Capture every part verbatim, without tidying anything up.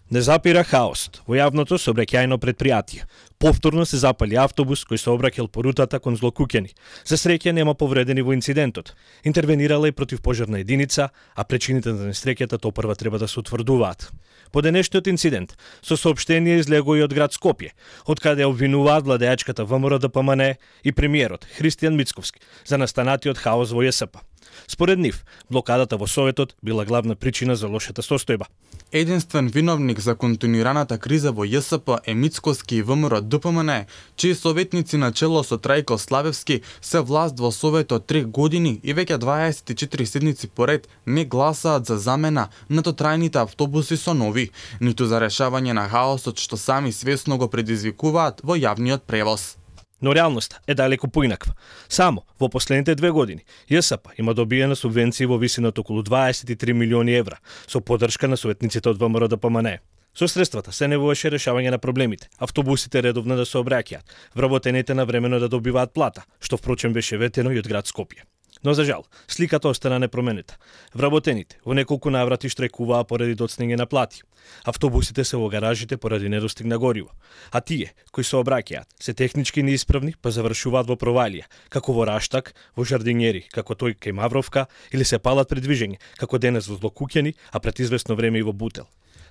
Не запира хаост во јавното сообраќајно предпријатие. Повторно се запали автобус кој се обраќал по рутата кон Злокуќани. За среќа нема повредени во инцидентот. Интервенирала и противпожарна единица, а причините на несреќата топрва треба да се утврдуваат. По денешниот инцидент, со соопштение излего и од град Скопје, од каде обвинуваат владеачката ВМРО Д П М Н и премиерот Христијан Мицковски за настанатиот хаос во Ј С П. Според нив, блокадата во Советот била главна причина за лошата состојба. Единствен виновник за континуираната криза во Ј С П е Мицковски и ВМРО Д П М Н, чии советници на чело со Трајко Славевски се власт во Советот три години и веќе дваесет и четири седмици поред не гласаат за замена на тотрајните автобуси со нови, ниту за решавање на хаосот што сами свесно го предизвикуваат во јавниот превоз. Но реалноста е далеку поинаква. Само во последните две години Ј С П има добиена субвенции во висина од околу дваесет и три милиони евра со поддршка на советниците од ВМРО Д П М Н. Со средствата се невоеше решавање на проблемите, автобусите редовно да се обраќаат, вработените на времено да добиваат плата, што впрочем беше ветено и од град Скопје. Но за жал, сликата остана непроменита. Вработените во неколку наврати штрекуваа поради доцнење на плати. Автобусите се во гаражите поради недостиг на гориво, а тие кои се обраќаат се технички неисправни па завршуваат во провалија, како во Раштак, во Жардинјери, како тој кај Мавровка, или се палат пред движење, како денес во Злокуќани, а пред известно време и во Бутел.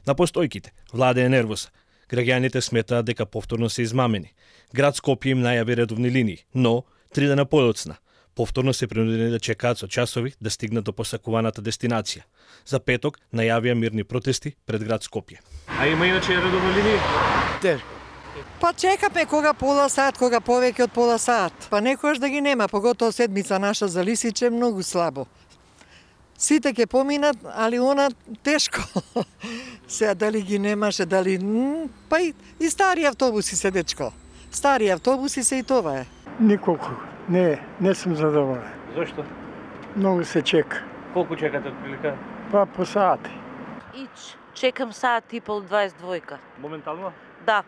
На постојките владее нервоса. Граѓаните сметаат дека повторно се измамени. Град Скопје им најави редовни линии, но три дена подоцна повторно се принудени да чекаат со часови да стигнат до посакуваната дестинација. За петок најавија мирни протести пред град Скопје. А има иначе редовни линии? Тешко. Па чекаме кога пола сат, кога повеќе од пола сат. Па некојаш да ги нема, поготоа седмица наша за Лисиче многу слабо. Сите ќе поминат, али она тешко. Сега дали ги немаше, дали... Па и, и стари автобуси се, дечко. Стари автобуси се и това е. Николку. Не, не сум задоволен. Зошто? Многу се чека. Колку чекате отприлика? Па по сати. Ич, чекам сат и пол дваесет и двојка. Моментално? Да.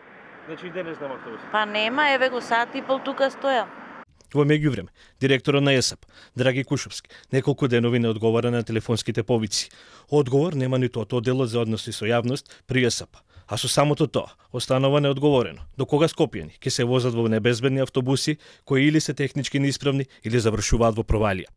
Значи и денес нема автобус? Па нема, еве го сат и пол тука стојам. Во меѓувреме, директорот на Ј С П, Драги Кушовски, неколку денови не одговара на телефонските повици. Одговор нема ниту од одделот за односи со јавност при Ј С П. А со самото тоа, останува неодговорено. До кога скопјани ќе се возат во небезбедни автобуси кои или се технички неисправни или завршуваат во провалија.